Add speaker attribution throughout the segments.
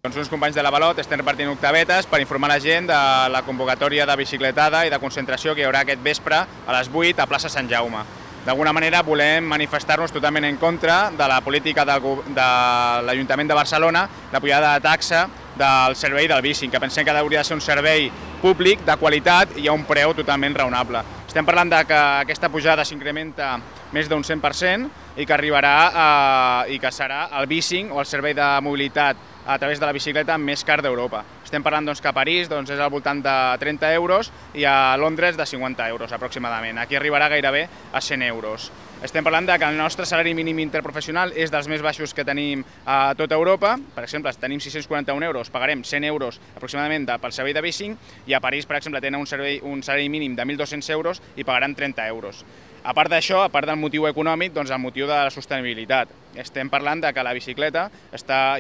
Speaker 1: Uns companys de l'Avalot estem repartint octavetes per informar la gent de la convocatòria de bicicletada i de concentració que hi haurà aquest vespre a les 8 a plaça Sant Jaume. D'alguna manera volem manifestar-nos totalment en contra de la política de l'Ajuntament de Barcelona de pujada de taxa del servei del bicing, que pensem que hauria de ser un servei públic de qualitat i a un preu totalment raonable. Estem parlant de que aquesta pujada s'incrementa més d'un 100% i que arribarà i que serà el bicing o el servei de mobilitat a través de la bicicleta més car d'Europa. Estem parlant que a París és al voltant de 30 euros i a Londres de 50 euros aproximadament. Aquí arribarà gairebé a 100 euros. Estem parlant que el nostre salari mínim interprofessional és dels més baixos que tenim a tota Europa. Per exemple, si tenim 641 euros, pagarem 100 euros aproximadament pel servei de bicing i a París, per exemple, tenen un salari mínim de 1.200 euros i pagaran 30 euros. A part d'això, a part del motiu econòmic, el motiu de la sostenibilitat. Estem parlant que la bicicleta,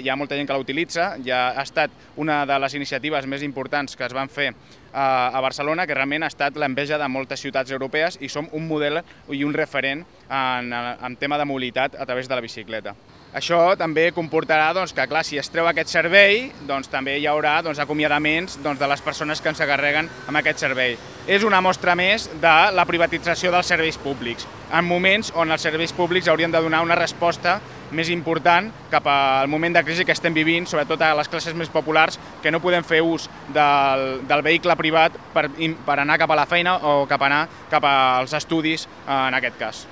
Speaker 1: hi ha molta gent que la utilitza, ja ha estat una de les iniciatives més importants que es van fer a Barcelona, que realment ha estat l'enveja de moltes ciutats europees i som un model i un referent en tema de mobilitat a través de la bicicleta. Això també comportarà que, clar, si es treu aquest servei, també hi haurà acomiadaments de les persones que ens encarreguen amb aquest servei. És una mostra més de la privatització dels serveis públics, en moments on els serveis públics haurien de donar una resposta més important cap al moment de crisi que estem vivint, sobretot a les classes més populars, que no podem fer ús del vehicle privat per anar cap a la feina o cap als estudis, en aquest cas.